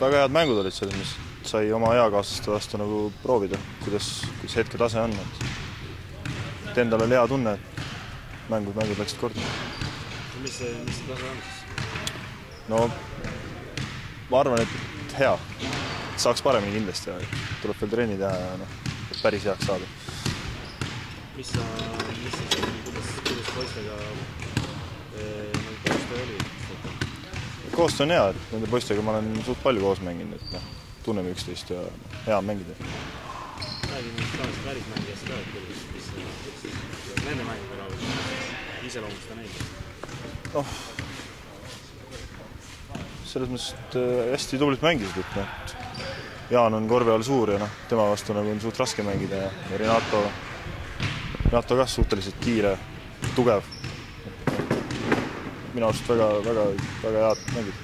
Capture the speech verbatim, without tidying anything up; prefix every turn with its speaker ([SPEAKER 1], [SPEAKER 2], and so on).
[SPEAKER 1] väga head mängud olid selles, mis sai oma eakaaslaste vastu nagu proovida, kuidas, kuidas hetke tase on. Et endal oli hea tunne, et mängud, mängud läksid korda.
[SPEAKER 2] Mis see, mis see tase on siis?
[SPEAKER 1] No, ma arvan, et hea. Saaks paremini kindlasti ja tuleb veel trenni teha ja no, päris heaks saada.
[SPEAKER 2] Mis sa, mis sa seal, kuidas, kuidas poistega eh, koostöö oli?
[SPEAKER 1] Koostöö on hea, et nende poistega ma olen suht palju koos mänginud, et no, tunneme üksteist ja hea on mängida.
[SPEAKER 2] Räägi nüüd tavaliselt välismängijast ka, et kuidas, mis, mis nende mängida raadus iseloomusta neid?
[SPEAKER 1] Oh, selles mõttes, et hästi tublit mängisid, et no, Jaan on korve all suur ja no, tema vastu nagu on suht raske mängida ja, ja Renato, Renato ka suhteliselt kiire, tugev. Minu arust väga, väga, väga head mängid.